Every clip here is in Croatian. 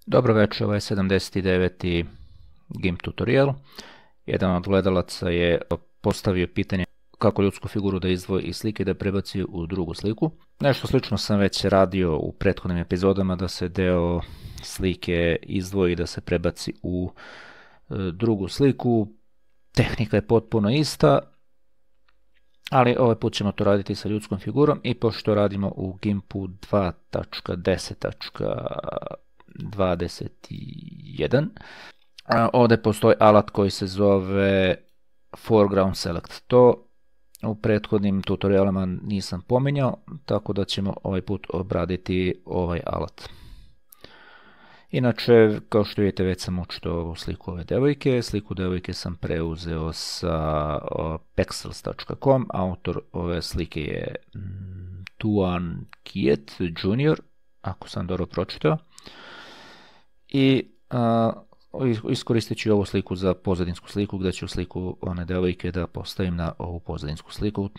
Dobro večer, ovo je 79. GIMP tutorial. Jedan od gledalaca je postavio pitanje kako ljudsku figuru da izdvoji iz slike i da prebaci u drugu sliku. Nešto slično sam već radio u prethodnim epizodama, da se deo slike izdvoji i da se prebaci u drugu sliku. Tehnika je potpuno ista, ali ovaj put ćemo to raditi sa ljudskom figurom i pošto radimo u GIMP-u 2.10.21, ovdje postoji alat koji se zove Foreground Select. To u prethodnim tutorialama nisam pominjao, tako da ćemo ovaj put obraditi ovaj alat. Inače, kao što vidite, već sam učito ovu sliku ove devojke. Sliku devojke sam preuzeo sa pexels.com. Autor ove slike je Tuan Kiet Jr., ako sam dobro pročitao. I iskoristit ću ovu sliku za pozadinsku sliku, gdje ću sliku one devojke da postavim na ovu pozadinsku sliku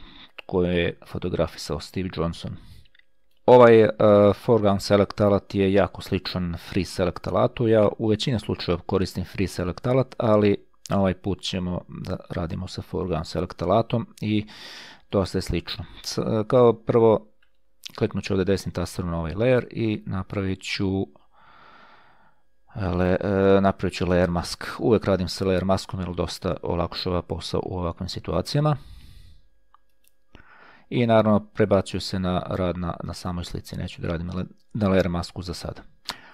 koju je fotografisao Steve Johnson. Ovaj Foreground Select alat je jako sličan Free Select alatu. Ja u većini slučajeva koristim Free Select alat, ali ovaj put ćemo da radimo sa Foreground Select alatom i dosta je slično. Kao prvo kliknut ću ovdje desnim tasterom na ovaj layer i napravit ću layer mask. Uvijek radim sa layer maskom jer dosta olakšava posao u ovakvim situacijama. I naravno prebacuju se na rad na samoj slici, neću da radim na layer masku za sada.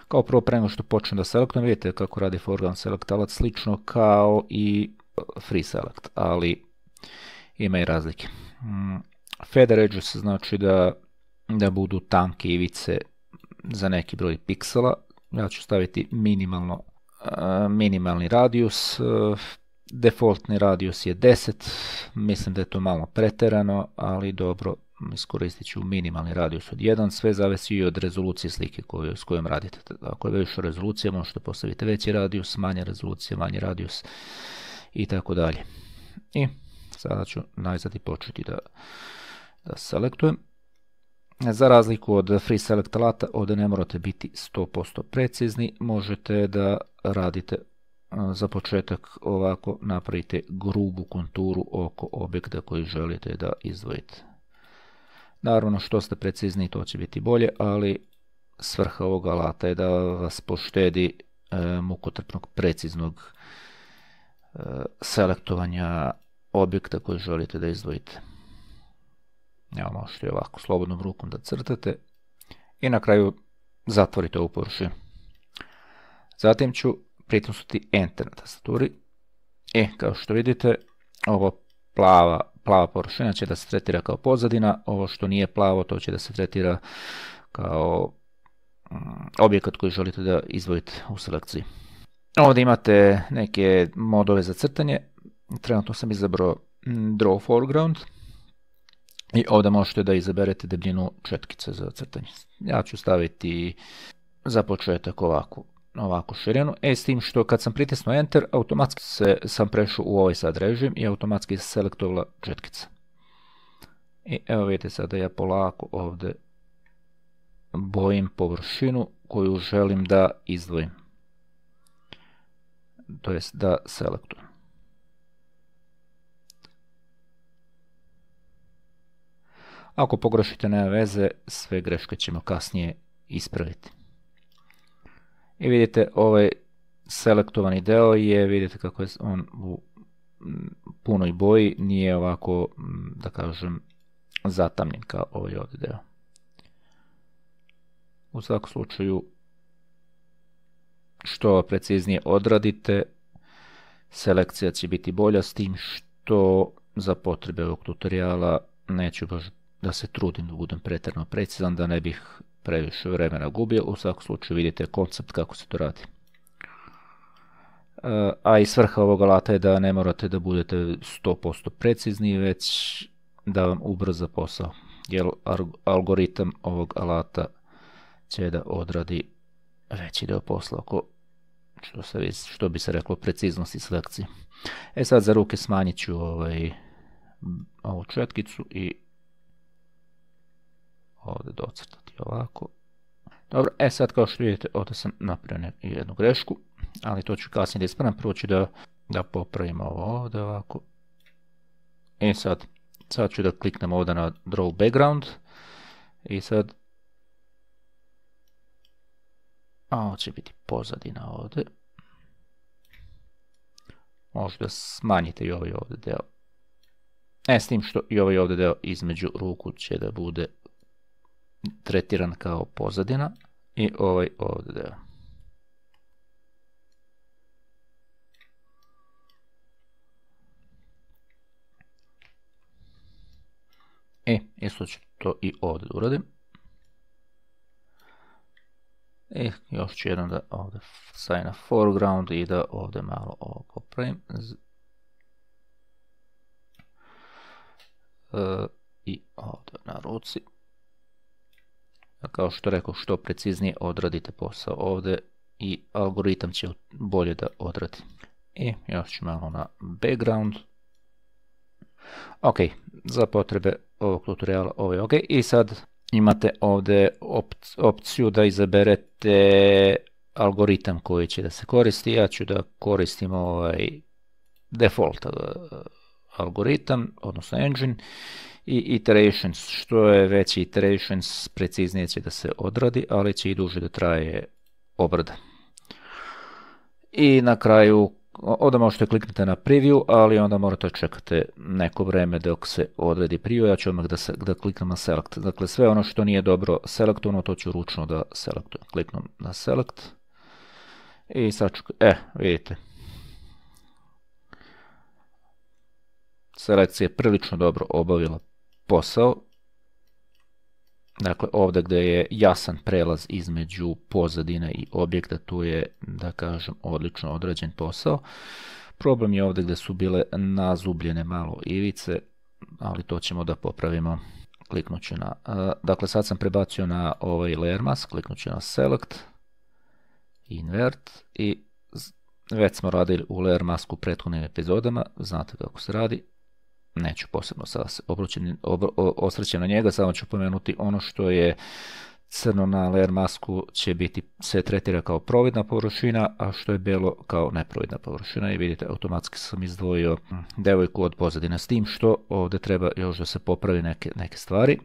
Kao prvo, pre nego što počnem da selektujem, vidite kako radi Foreground Select alat, slično kao i Free Select, ali ima i razlike. Feather edges znači da budu tanke ivice za neki broj piksela. Ja ću staviti minimalni radijus. Defaultni radijus je 10, mislim da je to malo preterano, ali dobro, iskoristit ću minimalni radijus od 1, sve zavisi i od rezolucije slike s kojom radite. Ako je veća rezolucija, možete postaviti veći radijus, manja rezolucija, manji radijus i tako dalje. I sada ću najzad i početi da selektujem. Za razliku od Free Select alata, ovdje ne morate biti 100% precizni, možete da radite za početak ovako, napravite grubu konturu oko objekta koji želite da izdvojite. Naravno, što ste precizniji, to će biti bolje, ali svrha ovog alata je da vas poštedi mukotrpnog preciznog selektovanja objekta koji želite da izdvojite. Evo, možete ovako slobodnom rukom da crtate i na kraju zatvorite ovu površinu. Zatim ću pritisnuti Enter na tastaturi i kao što vidite, ovo plava površina će da se tretira kao pozadina, ovo što nije plavo to će da se tretira kao objekat koji želite da izdvojite u selekciji. Ovdje imate neke modove za crtanje, trenutno sam izabrao Draw Foreground i ovdje možete da izaberete debljinu četkice za crtanje. Ja ću staviti za početak ovako širinu, s tim što kad sam pritisnuo Enter, automatski sam prešao u ovaj sad režim i automatski se selektovala četkica. I evo vidite sada ja polako ovdje bojim površinu koju želim da izdvojim, to jest da selektujem. Ako pogrešite, nema veze, sve greške ćemo kasnije ispraviti. I vidite, ovaj selektovani deo je, vidite kako je on u punoj boji, nije ovako, da kažem, zatamljen kao ovaj ovdje deo. U svakom slučaju, što preciznije odradite, selekcija će biti bolja, s tim što za potrebe ovog tutoriala neću baš da se trudim da budem pretjerano precizan, da ne bih previše vremena gubio. U svakom slučaju vidite koncept kako se to radi. A i svrha ovog alata je da ne morate da budete 100% precizni, već da vam ubrza posao, jer algoritam ovog alata će da odradi veći deo posla oko, što bi se reklo, preciznosti selekcije. Sad za ruke smanjit ću ovu četkicu i ovdje docrtati ovako. Dobro, sad kao što vidite, ovdje sam napravio jednu grešku, ali to ću kasnije da ispravim. Prvo ću da popravimo ovo ovdje ovako. I sad ću da kliknem ovdje na Draw Background. I sad, ovo će biti pozadina ovdje. Možda smanjite i ovaj ovdje deo. S tim što i ovaj ovdje deo između ruku će da bude tretiran kao pozadina. I ovaj ovdje deo. Isto ću to i ovdje da uradim. Još ću jedan da ovdje stavim na foreground i da ovdje malo ovo popravim. I ovdje na ruci. Kao što rekao, što preciznije odradite posao ovdje i algoritam će bolje da odradi. I još ću malo na background. Ok, za potrebe ovog tutoriala ovo je ok. I sad imate ovdje opciju da izaberete algoritam koji će da se koristi. Ja ću da koristim ovaj default algoritam, odnosno engine. I iterations, što je veći iterations, preciznije će da se odradi, ali će i duže da traje obrada. I na kraju, ovdje možete kliknuti na preview, ali onda morate čekati neko vreme dok se odredi preview. Ja ću odmah da kliknem na select. Dakle, sve ono što nije dobro selektovano, to ću ručno da selektujem. Kliknem na select. I sad ću, vidite. Selekcija je prilično dobro obavila posao. Dakle, ovdje gdje je jasan prelaz između pozadine i objekta, tu je, da kažem, odlično odrađen posao. Problem je ovdje gdje su bile nazubljene malo ivice, ali to ćemo da popravimo. Kliknut ću na, dakle sad sam prebacio na ovaj layer mask, kliknut ću na select, invert i već smo radili u layer masku u prethodnim epizodama, znate kako se radi. Neću posebno sada se osvrćem na njega, samo ću pomenuti ono što je crno na layer masku će biti, se tretira kao providna površina, a što je belo kao neprovidna površina. I vidite, automatski sam izdvojio devojku od pozadine, s tim što ovdje treba još da se popravi neke stvari.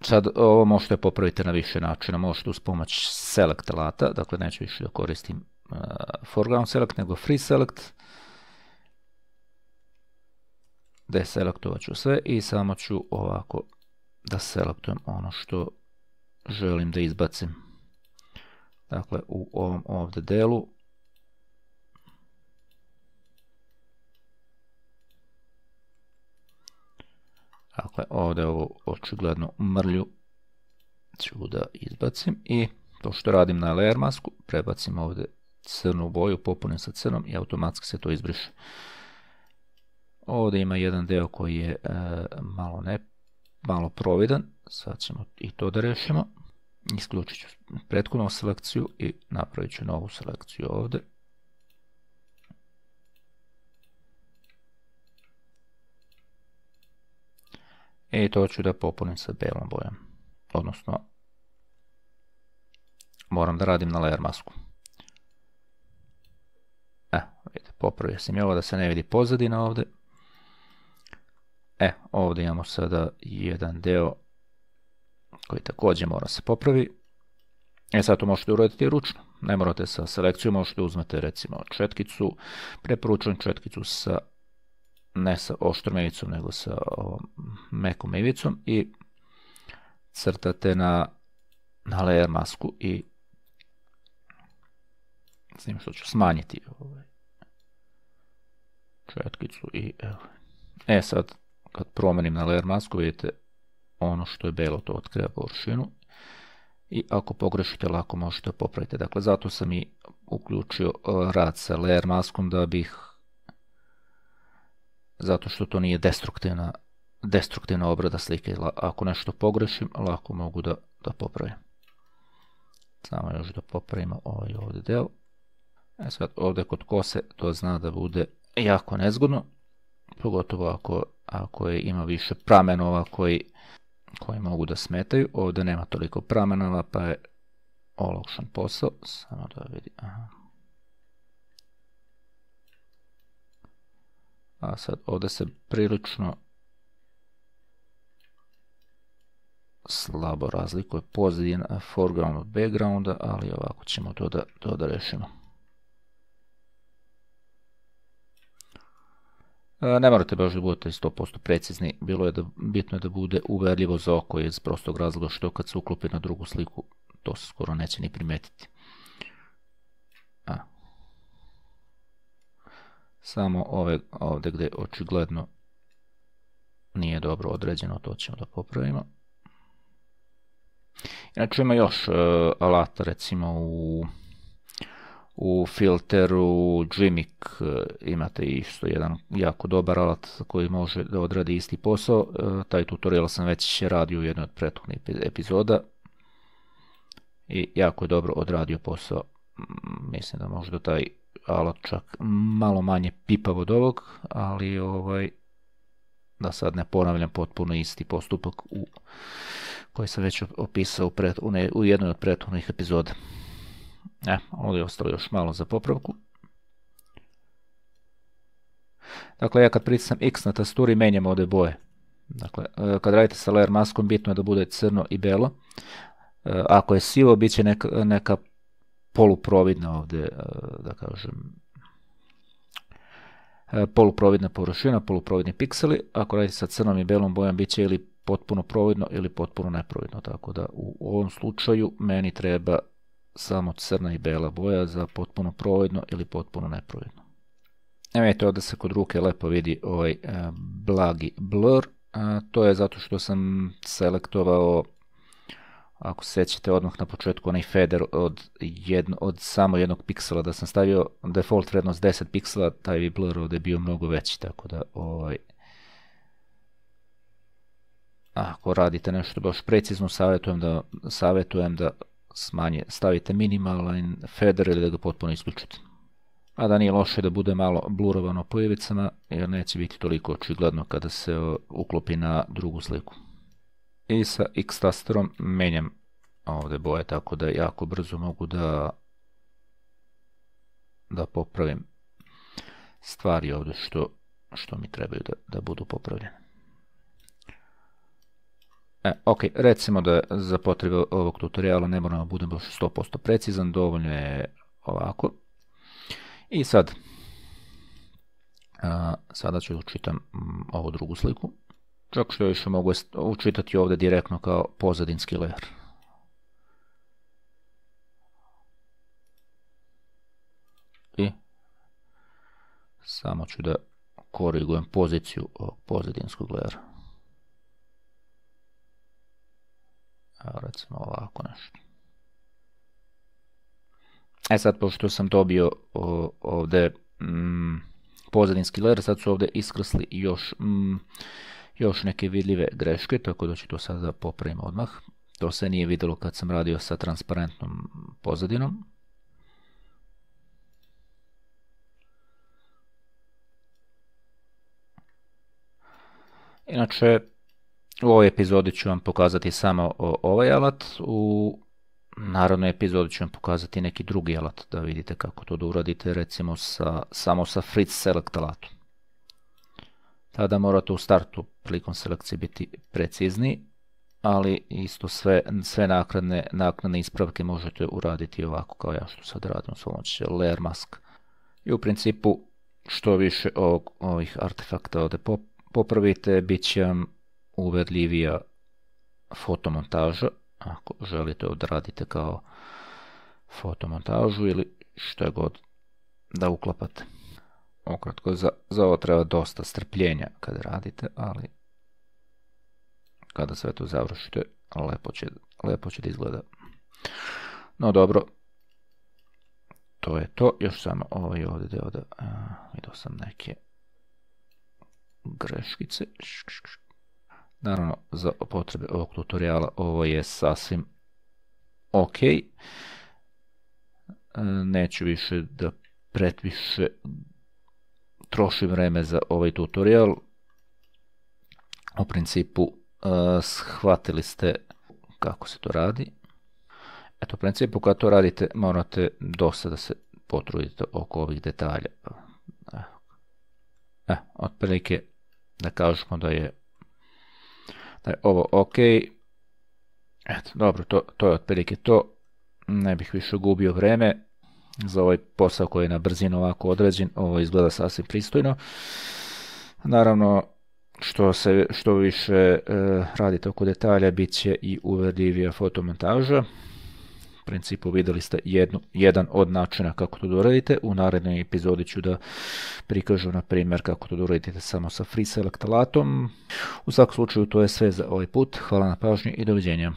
Sad ovo možete popraviti na više načina, možete uz pomoć select alata, dakle neću više da koristim foreground select, nego free select. Deselektovat ću sve i samo ću ovako da selektujem ono što želim da izbacim. Dakle, u ovom ovdje delu dakle, ovdje ovo očigledno mrlju ću da izbacim i to što radim na layer masku, prebacim ovdje crnu boju, popunim sa crnom i automatski se to izbriše. Ovdje ima jedan deo koji je malo providan, sad ćemo i to da rešimo. Isključit ću prethodnu selekciju i napravit ću novu selekciju ovdje. I to ću da popunim sa belom bojom, odnosno moram da radim na layer masku. Vidite, popravio sam i ovo da se ne vidi pozadina ovdje. Ovdje imamo sada jedan deo koji također mora se popravi. Sad to možete uraditi ručno. Ne morate sa selekcijom, možete uzmete recimo četkicu, preporučujem četkicu ne sa oštrom ivicom, nego sa mekom ivicom i crtate na layer masku i s tim što ću smanjiti četkicu i evo. Sad kad promenim na layer masku vidite ono što je belo, to otkriva površinu i ako pogrešite lako možete popraviti. Dakle, zato sam i uključio rad sa layer maskom zato što to nije destruktivna obrada slike. Ako nešto pogrešim, lako mogu da popravim. Samo još da popravimo ovaj ovdje deo. Sad ovdje kod kose to zna da bude jako nezgodno, pogotovo ako a koji ima više pramenova koji mogu da smetaju. Ovdje nema toliko pramenova, pa je olakšan posao. Samo da vidi. Aha. A sad ovdje se prilično slabo razlikuje pozadina foreground od backgrounda, ali ovako ćemo to da rešimo. Ne morate baš da budete 100% precizni, bitno je da bude uverljivo za oko iz prostog razloga što kad se uklopi na drugu sliku to se skoro neće ni primetiti. Samo ovdje gdje očigledno nije dobro određeno, to ćemo da popravimo. Inače ima još alata, recimo u filteru Gmix imate isto jedan jako dobar alat koji može da odradi isti posao. Taj tutorial sam već radio u jednoj od prethodnih epizoda i jako je dobro odradio posao. Mislim da možda taj alat čak malo manje pipav od ovog, ali da sad ne ponavljam potpuno isti postupak koji sam već opisao u jednoj od prethodnih epizoda. Ovdje je ostalo još malo za popravku. Dakle, ja kad pritisnem X na tasturi menjam ovdje boje. Dakle, kad radite sa layer maskom bitno je da bude crno i belo. Ako je sivo, bit će neka poluprovidna ovdje, da kažem, poluprovidna površina, poluprovidni pikseli. Ako radite sa crnom i belom bojom, bit će ili potpuno providno ili potpuno neprovidno. Tako da u ovom slučaju meni treba samo crna i bela boja za potpuno providno ili potpuno neprovidno. Vidite, ovdje se kod ruke lepo vidi ovaj blagi blur. To je zato što sam selektovao, ako se sjećate odmah na početku, onaj fader od samo jednog piksela, da sam stavio default vrednost 10 piksela, taj bi blur ovdje bio mnogo veći, tako da ako radite nešto baš precizno, savjetujem da stavite minimalan fader ili da ga potpuno isključite. A da nije loše da bude malo blurovano po ivicama, jer neće biti toliko očigledno kada se uklopi na drugu sliku. I sa X tasterom menjam ovdje boje, tako da jako brzo mogu da popravim stvari ovdje što mi trebaju da budu popravljene. Ok, recimo da za potrebe ovog tutoriala ne moram da budem baš 100% precizan, dovoljno je ovako. I sada ću učitam ovu drugu sliku. Čak što još mogu učitati ovdje direktno kao pozadinski layer. I samo ću da korigujem poziciju ovog pozadinskog layera. Evo recimo ovako nešto. Sad, pošto sam dobio ovdje pozadinski layer, sad su ovdje iskrsli još neke vidljive greške, tako da ću to sada popravim odmah. To se nije vidjelo kad sam radio sa transparentnom pozadinom. Inače, u ovoj epizodi ću vam pokazati samo ovaj alat, u naravnoj epizodi ću vam pokazati neki drugi alat, da vidite kako to da uradite, recimo samo sa Fritz Select alatom. Tada morate u startu prilikom selekcije biti precizni, ali isto sve naknadne ispravke možete uraditi ovako kao ja što sad radim s pomoću layer mask. I u principu što više ovih artefakta ovdje popravite, bit će vam uverljivija fotomontaža, ako želite odradite kao fotomontažu ili što je god da uklapate. Ukratko, za ovo treba dosta strpljenja kada radite, ali kada sve to završite, lepo će da izgleda. No dobro, to je to. Još samo ovaj ovdje deo da vidio sam neke greškice. Naravno, za potrebe ovog tutoriala ovo je sasvim ok. Neću više da pretviše trošim vreme za ovaj tutorial. U principu shvatili ste kako se to radi. Eto, u principu kad to radite morate dosta da se potrudite oko ovih detalja. Otprilike da kažemo da je ovo ok. Eto, dobro, to je otprilike to. Ne bih više gubio vreme za ovaj posao koji je na brzinu ovako određen. Ovo izgleda sasvim pristojno. Naravno, što više radite oko detalja, bit će i uvjerljivija fotomontaža. U principu vidjeli ste jedan od načina kako to doradite. U narednoj epizodi ću da prikažu na primjer kako to doradite samo sa free select alatom. U svakom slučaju to je sve za ovaj put. Hvala na pažnji i doviđenja.